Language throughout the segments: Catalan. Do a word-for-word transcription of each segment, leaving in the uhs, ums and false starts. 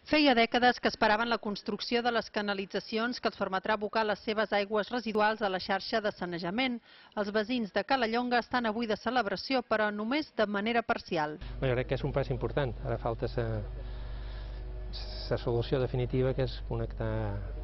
Feia dècades que esperaven la construcció de les canalitzacions que els permetrà abocar les seves aigües residuals a la xarxa de sanejament. Els veïns de Calellonga estan avui de celebració, però només de manera parcial. Jo crec que és un pas important. Ara falta la solució definitiva, que és connectar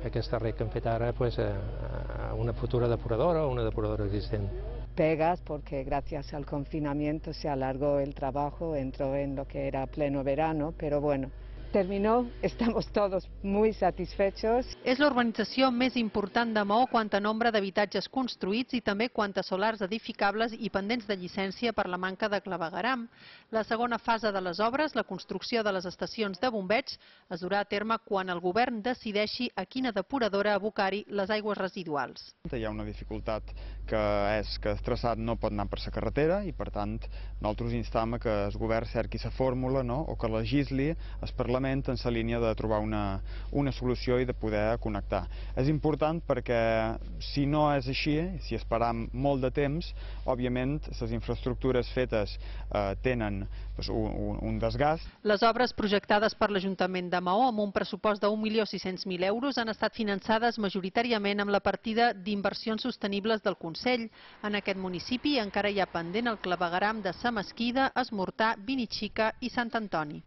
aquesta red que hem fet ara pues, a una futura depuradora o una depuradora existent. Pegas porque gracias al confinamiento se alargó el trabajo, entró en lo que era pleno verano, pero bueno, terminó, estamos todos muy satisfechos. És la urbanització més important de Maó quant a nombre d'habitatges construïts i també quant a solars edificables i pendents de llicència per la manca de clavegueram. La segona fase de les obres, la construcció de les estacions de bombeig, es durà a terme quan el govern decideixi a quina depuradora abocar-hi les aigües residuals. Hi ha una dificultat que és que el traçat no pot anar per la carretera i per tant nosaltres instam que el govern cerqui la fórmula, no? O que legisli el Parlament en la línia de trobar una, una solució i de poder connectar. És important perquè si no és així, si esperam molt de temps, òbviament les infraestructures fetes eh, tenen pues, un, un desgast. Les obres projectades per l'Ajuntament de Maó amb un pressupost d'un milió sis-cents mil euros han estat finançades majoritàriament amb la partida d'inversions sostenibles del Consell. En aquest municipi encara hi ha pendent el clavegueram de Sa Mesquida, Es Mortà, Vinixica i Sant Antoni.